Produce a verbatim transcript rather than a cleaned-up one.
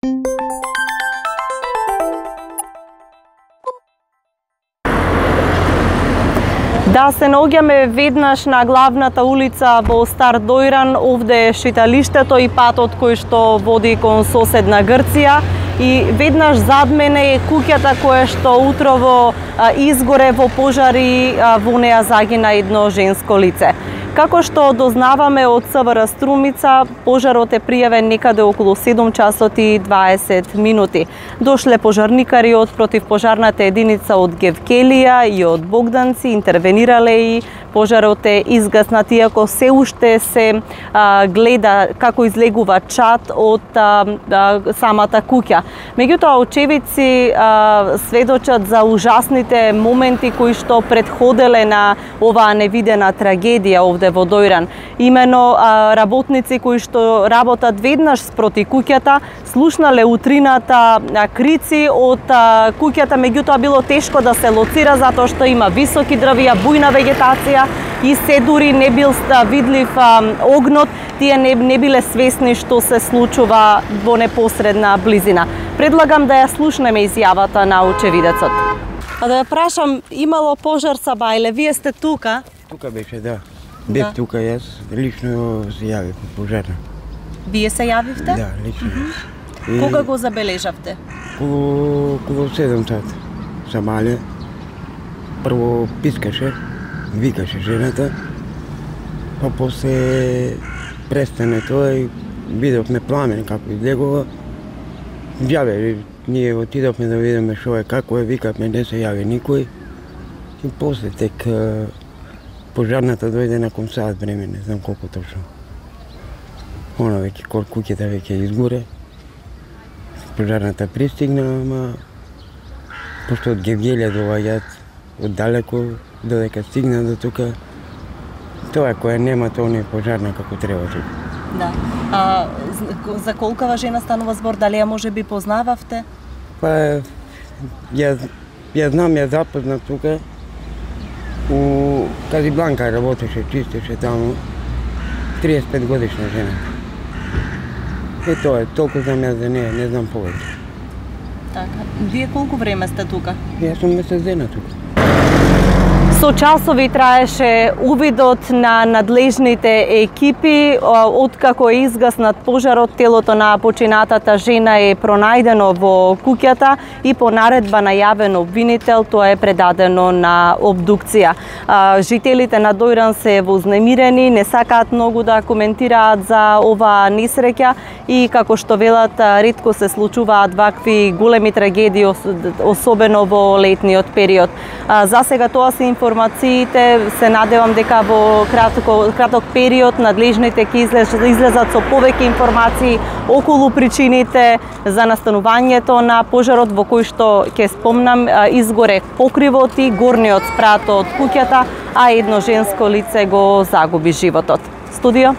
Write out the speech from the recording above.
Да, се наоѓаме веднаш на главната улица во Стар Дојран, овде е шеталиштето и патот кој што води кон соседна Грција. И веднаш зад мене е куќата која што утрово а, изгоре во пожар и а, во неа загина едно женско лице. Како што дознаваме од СВР Струмица, пожарот е пријавен некаде околу седум часот и дваесет минути. Дошле пожарникари од противпожарната единица од Гевкелија и од Богданци, интервенирале и пожарот е изгаснат, иако се уште се а, гледа како излегува чад од а, а, самата куќа. Меѓутоа, очевидци а, сведочат за ужасните моменти кои што предходеле на оваа невидена трагедија овде во Дојран. Имено а, работници кои што работат веднаш спроти куќата, слушнале утрината а, крици од а, куќата, меѓутоа било тешко да се лоцира затоа што има високи дрвја, бујна вегетација и се дури не бил видлив а, огнот, тие не, не биле свесни што се случува во непосредна близина. Предлагам да ја слушнеме изјавата на очевидецот. А да ја прашам, имало пожар са Бајле, вие сте тука? Тука беше, да. Бев да. Тука јас, лично се јавив од пожарна. Вие се јавивте? Да, лично. Mm-hmm. И... Кога го забележавте? Околу, околу седум сат са мале. Прво пискаше, викаше жената, па после престане тоа и видовме пламен како излегува. Јаве, ние отидовме да видиме што е, како е, викавме, не се јави никој. И после тек пожарната дојде након саат време, не знам колку точно. Она веќе куќата веќе изгоре. Пожарната пристигна, ама пошто од Гевгелија доаѓаат од далеко, додека стигна до тука, тоа која нема, тоа не е пожарна како треба тука. Да. А за колкава жена станува збор, дали ја може би познававте? Па ја ја знам, ја запознав тука. У Казибланка работеше, чистеше таму. триесет и пет годишна жена. И тоа е, толку знам јас за неја, не знам повеќе. Така. Вие колку време сте тука? Јас сум месец дена тука. Со часови траеше увидот на надлежните екипи. Откако е изгаснат пожарот, телото на починатата жена е пронајдено во куќата и по наредба на јавен обвинител тоа е предадено на обдукција. Жителите на Дојран се вознемирени, не сакаат многу да коментираат за оваа несреќа и како што велат, ретко се случуваат вакви големи трагедии, особено во летниот период. За сега тоа се информациите, се надевам дека во кратко, краток период надлежните ќе излезат со повеќе информации околу причините за настанувањето на пожарот, во кој што, ќе спомнам, изгоре покривот и горниот спрат од куќата, а едно женско лице го загуби животот. Студио?